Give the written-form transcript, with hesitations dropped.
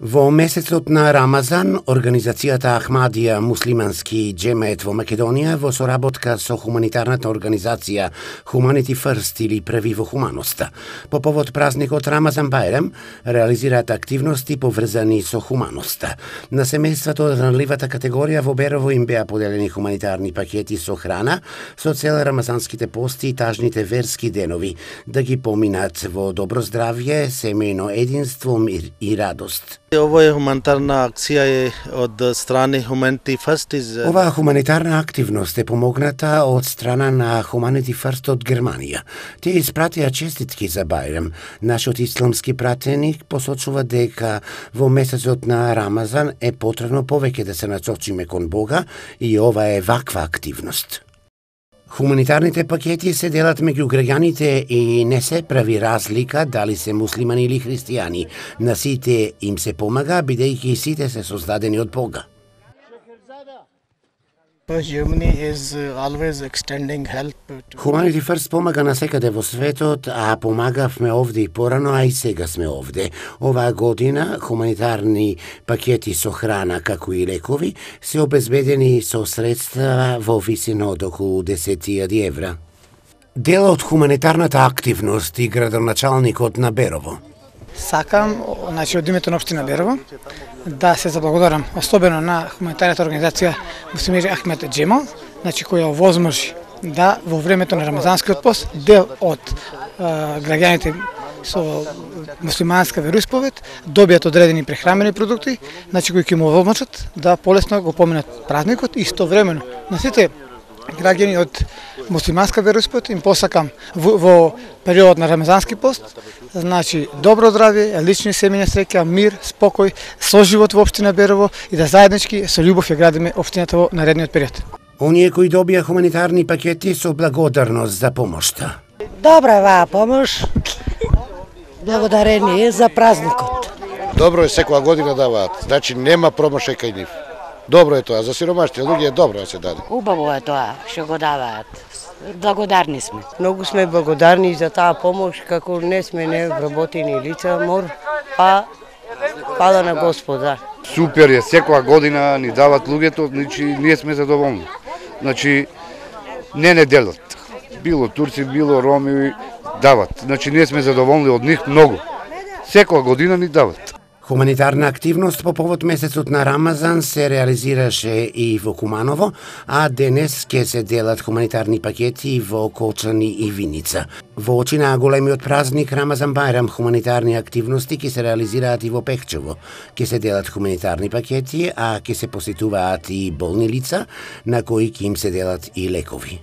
Во месецот на Рамазан, организацијата Ахмадија муслимански џемеет во Македонија во соработка со хуманитарната организација Humanity First или Први во хуманоста, по повод празникот Рамазан Бајрам, реализираат активности поврзани со хуманоста. На семејството од ранливата категорија во Берово им беа поделени хуманитарни пакети со храна со цел рамазанските пости и тажните верски денови да ги поминат во добро здравје, семејно единство, мир и радост. Ова е хуманитарна акција од страни Humanity First. Оваа хуманитарна активност е помогната од страна на Humanity First од Германија. Тие испратија честитки за Бајрам. Нашиот исламски пратеник посочува дека во месецот на Рамазан е потребно повеќе да се насочиме кон Бога и ова е ваква активност. Хуманитарните пакети се делат меѓу граѓаните и не се прави разлика дали се муслимани или христијани. На сите им се помага, бидејќи сите се создадени од Бога. Humanity First помага насекаде во светот, а помагавме овде и порано, а и сега сме овде. Оваа година хуманитарни пакети со храна, како и лекови, се обезбедени со средства во висина од околу 10.000 евра. Дел од хуманитарната активност и градоначалникот на Берово. Сакам, од името на општина Берово, да се заблагодарам особено на хуманитарната организација Муслимери Ахмед Џемал, која овозможи да во времето на рамазанскиот пост дел од граѓаните со муслиманска вероисповед добијат одредени прехрамени продукти, кои ќе му овозможат да полесно го поминат празникот и истовремено на сите граѓани од муслиманска вероисповед им посакам во период на рамазански пост, добро здравје, лични семејна среќа, мир, спокој, соживот во општина Берово и да заеднички со љубов ја градиме општината во наредниот период. Оние кои добија хуманитарни пакети со благодарност за помошта. Добра е оваа помош. Благодарение за празникот. Добро е, секоја година даваат, нема промашај кај нив. Добро е тоа, за сиромашните луѓе е добро да се даде. Убаво е тоа што го даваат. Благодарни сме. Многу сме благодарни за таа помош, како не сме невработени лица, пада на Господа. Супер е, секоја година ни дават луѓето, ние сме задоволни. Не делат. Било турци, било роми дават. Ние сме задоволни од нив многу. Секоја година ни дават. Хуманитарна активност по повод месецот на Рамазан се реализираше и во Куманово, а денес ќе се делат хуманитарни пакети во Колчани и Виница. Во очи на големиот празник Рамазан Бајрам, хуманитарни активности ќе се реализираат и во Пехчево. Ќе се делат хуманитарни пакети, а ќе се посетуваат и болни лица, на кои ќе им се делат и лекови.